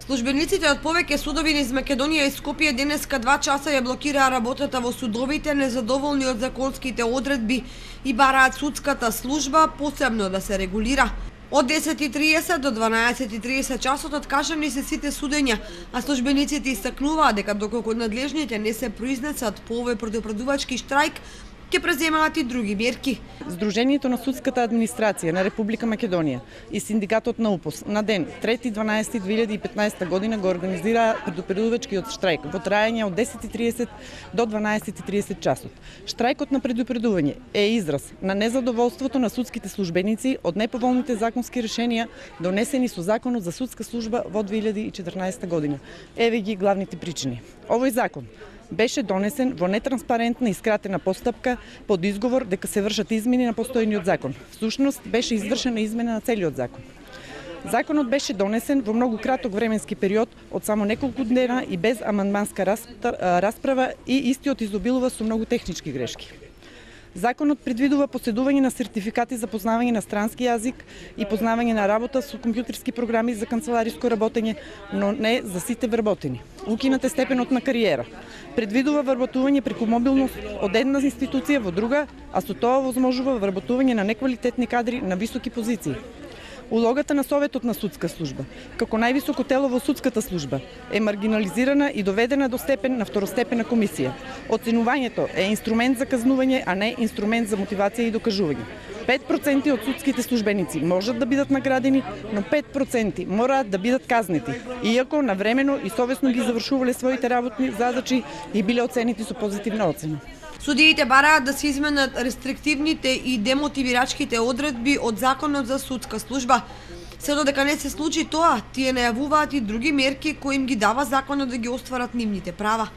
Службениците од повеќе судови низ Македонија и Скопје денеска 2 часа ја блокираа работата во судовите, незадоволни од законските одредби и бараат судската служба посебно да се регулира. Од 10:30 до 12:30 часот откажани се сите судења, а службениците истакнуваат дека доколку надлежните не се произнесат по овој предупредувачки штрајк, ќе преземаат и други мерки. Сдруженијето на судската администрација на Република Македонија и синдикатот на УПОС на ден 3.12.2015 година го организираа предупредувачкиот штрајк во траење од 10:30 до 12:30 часот. Штрајкот на предупредување е израз на незадоволството на судските службеници од неповолните законски решенија донесени со Законот за судска служба во 2014 година. Еве ги главните причини. Овој закон беше донесен во нетранспарентна и скратена постапка под изговор дека се вршат измени на постојниот закон. Всушност беше извршена измена на целиот закон. Законот беше донесен во многу краток временски период од само неколку дена и без амандманска расправа и истиот изобилува со многу технички грешки. Законот предвидува поседување на сертификати за познавање на странски јазик и познавање на работа со компјутерски програми за канцелариско работење, но не за сите вработени. Укинат е степенот на кариера. Предвидува вработување преку мобилност од една институција во друга, а со тоа возможува вработување на неквалитетни кадри на високи позиции. Улогата на Советот на судска служба, како највисоко тело во судската служба, е маргинализирана и доведена до степен на второстепена комисија. Оценувањето е инструмент за казнување, а не инструмент за мотивација и докажување. 5% од судските службеници можат да бидат наградени, но 5% мораат да бидат казнети, иако навремено и совесно ги завршувале своите работни задачи и биле оценети со позитивна оцена. Судиите бараат да се изменат рестриктивните и демотивирачките одредби од Законот за судска служба. Се додека не се случи тоа, тие најавуваат и други мерки кои им ги дава законот да ги остварат нивните права.